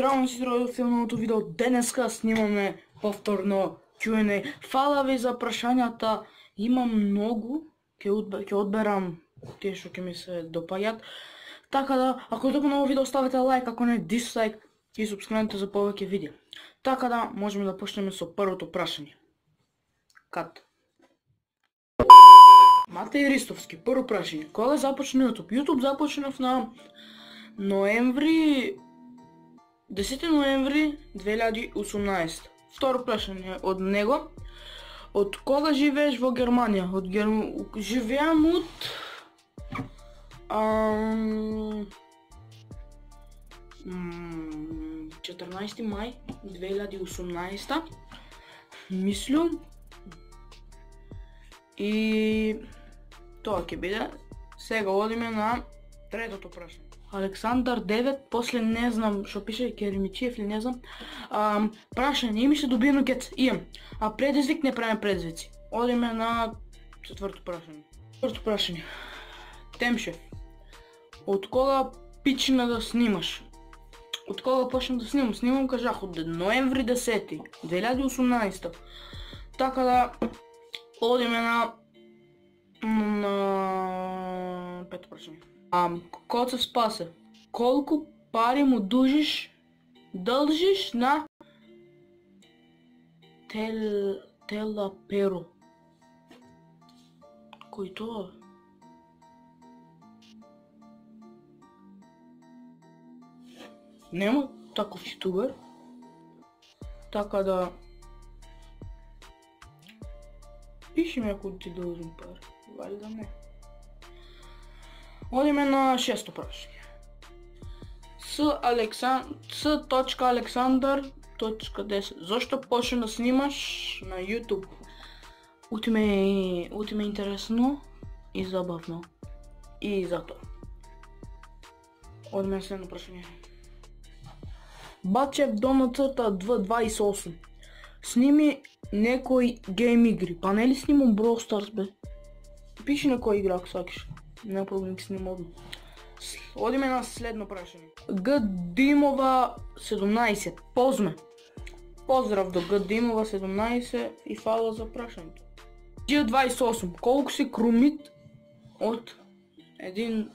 здраво си драго филмовото видео. Денеска снимаме повторно Q&A. Фала ви за прашањата. Имам многу. Ќе одберам тие што ќе ми се допаѓат. Така да, ако допа ново видео ставете лайк, ако не дислайк и субскрибнете за повеќе видеа. Така да, можеме да почнеме со првото прашање. Кат. Матеј Ристовски, прво прашање. Кога започна YouTube? YouTube започнав на ноември 10 ноември 2018. Второ прашање од него. Од кога живееш во Германија? Живеам од 14 мај 2018. Мислам. И тоа ќе биде. Сега одиме на третото прашање. Александар 9, после не знам што пише, Керемичиев или не знам. Прашање, имаше добиено кец? Имам. А предизвик не правим предизвици. Одиме на четврто прашање. Четврто прашање. Темшев. Од кога почна да снимаш? Од кога почнав да снимам? Снимам, кажах, од ноември 10 2018. Така да одиме на пето прашање. Коце Спасе, колку пари му дължиш на Телаперо? Кој тоа? Нема таков ютубер. Така да пиши ми ако ти должим пари. Вали да не. Одиме на шесто прашање. С.Александар.10. Зошто почна да снимаш на YouTube? Ути ме интересно и забавно. И затоа. Одиме на следно прашање. Бачев Дона црта 228. Сними некој гейм игри. Па нели снимам Brawl Stars бе? Пиши на кој игра ако сакаш. Нема проблем, ќе снимам одма. Одиме на следно прашање. Г. Димова 17. Позме. Поздрав до Г. Димова 17 и фала за прашањето. Г. 28. Колку си крумит од 1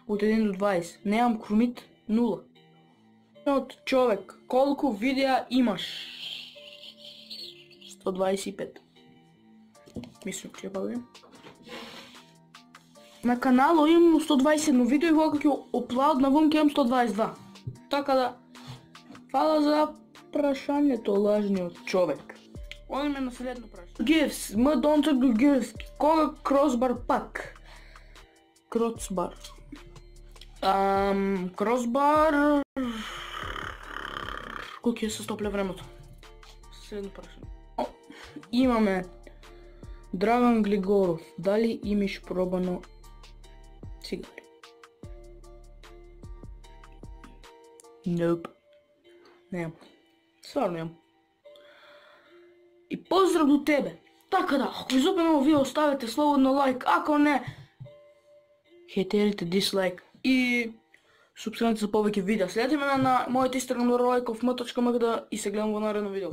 до 20? Немам крумит 0. Од човек. Колку видеа имаш? 125. Мислам, че бавим. На каналот имам 121 видео и кога ќе оплад навон ќе имам 122. Така да, фала за прашањето, лажниот човек. Одиме на следно прашање. Гифс, Дончак до Гифс, кога кросбар пак? Кросбар. Кросбар... Кој ќе се стопле времето? Следно прашање. Имаме Драган Глигоров, дали имаш пробано цигари? Nope. Немам. Стварно немам. И поздрав до тебе. Така да, ако ви западна ово видео, ставете слободно лайк, ако не, хейтерите дислайк и субскрибнете за повеќе видеа. Следите ме на мојот Instagram Лайков m.mgd и се гледам во наредно видео.